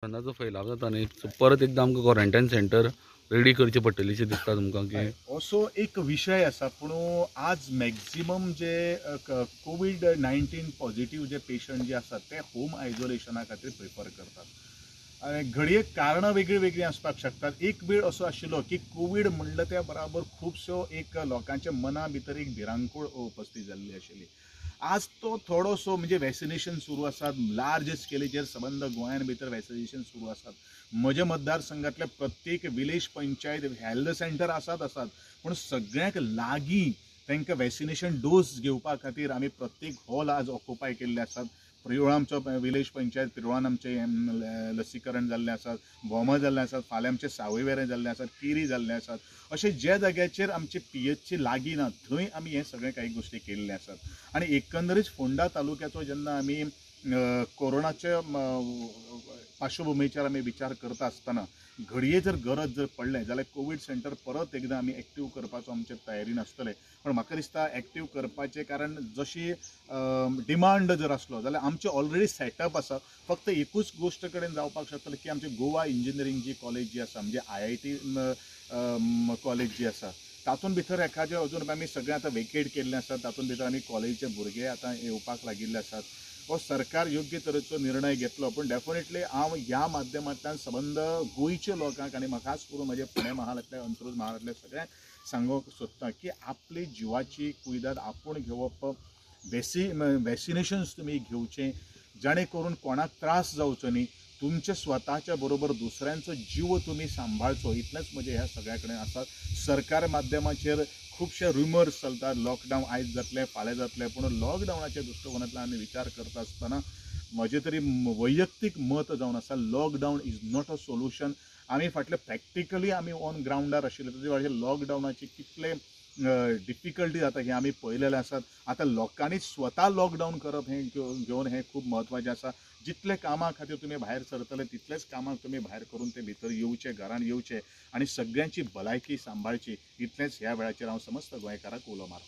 तेन्ना जो फैलाव जाता न्ही, परत एकदां आमकां क्वॉरंटायन सेंटर रेडी करची पडटली अशें दिसता तुमकां की? असो एक विशय आसा, पूण आज मॅक्झिमम जे कोवीड-19 पॉझिटिव्ह जे पेशंट जे आसात ते होम आयसोलेशना खातीर प्रिफर करतात. घडये कारणां वेगळीं वेगळीं आसपाक शकतात. एक वेळ असो आशिल्लो की कोवीड म्हणलं त्या बराबर खुबश्यो एक लोकांच्या मना भितर एक भिरांकूळ उपस्थित जाल्ली आशिल्ली. आज तो थोडोसो म्हणजे वॅक्सिनेशन सुरू आसात, लार्ज स्केलीचेर सबंद गोंयान भितर वॅक्सिनेशन सुरू आसात. म्हज्या मतदारसंघातले प्रत्येक विलेज पंचायत हेल्थ सेंटर आसात आसात, पूण सगळ्यांक लागीं तांकां वॅक्सिनेशन डोस घेवपा खातीर आमी प्रत्येक हॉल आज ऑक्युपाय केल्ले आसात. प्रियोळा आमचो विलेज पंचायत प्रियोळान आमचें लसीकरण जाल्लें आसात, भोमा जाल्लें आसात, फाल्यां आमचें सावयवेरें जाल्लें आसात, केरी जाल्लें आसात. अशें ज्या जाग्याचेर आमचे पीएचसी लागीं ना थंय आमी हें सगळें काही गोश्टी केल्ले आसात. आनी एकंदरीत फोंडा तालुक्याचो जेन्ना आमी कोरोनाच्या पार्श्वभुमीचेर आमी विचार करता आसतना घडये जर गरज जर पडलें जाल्यार कोवीड सेंटर परत एकदां आमी एक्टीव करपाचो आमचे तयारीन आसतले. पण म्हाका दिसता एक्टीव करपाचें कारण जशी डिमांड जर आसलो जाल्यार आमचें ऑलरेडी सेटअप आसा. फक्त एकूच गोश्ट कडेन जावपाक शकतलें की आमची गोवा इंजिनियरींग जी कॉलेज जी आसा, म्हणजे IIT college जी आसा, तातूंत भितर एखादें अजून आमी सगळें आतां वेकेट केल्लें आसा. तातूंत भितर आमी कॉलेजीचे भुरगे आतां येवपाक लागिल्ले आसात. हो सरकार योग्य तरेचो निर्णय घेतलो, पूण डेफिनेटली हांव ह्या माध्यमांतल्यान सबंद गोंयच्या लोकांक आनी खास करून म्हजे पुणे महालांतल्या, अंत्रुज महालांतल्या सगळ्यांक सांगूंक सोदता की आपली जिवाची कुयदाद आपूण घेवप, वॅक्सिनेशन्स तुमी घेवचें, जाणे करून कोणाक त्रास जावचो न्ही. तुमच्या स्वताच्या बरोबर दुसऱ्यांचो जीव तुमी सांबाळचो, इतलेंच म्हजें ह्या सगळ्या कडेन आसा. सरकार माध्यमाचेर खुबशे रुमर्स चलतात, लॉकडावन आयज जातलें, फाल्यां जातलें, पूण लॉकडावनाच्या दृश्टिकोनांतल्यान आमी विचार करता आसतना म्हजें तरी वैयक्तीक मत जावन आसा, lockdown is not a solution. आमी फाटले प्रॅक्टिकली आमी ऑन ग्रावंडार आशिल्ले, ताचे लॉकडावनाचे कितले डिफिकल्टी जाता हें आमी पळयलेलें आसात. आतां लोकांनी स्वता लॉकडावन करप हें घेवन हें खूब म्हत्वाचें आसा. जितले कामां खातीर तुमी भायर सरतले तितलेच कामाक तुमी भायर करून ते भितर येवचे, घरान येवचे आनी सगळ्यांची भलायकी सांबाळची, इतलेंच ह्या वेळाचेर हांव समस्त गोंयकारांक उलो मारतां.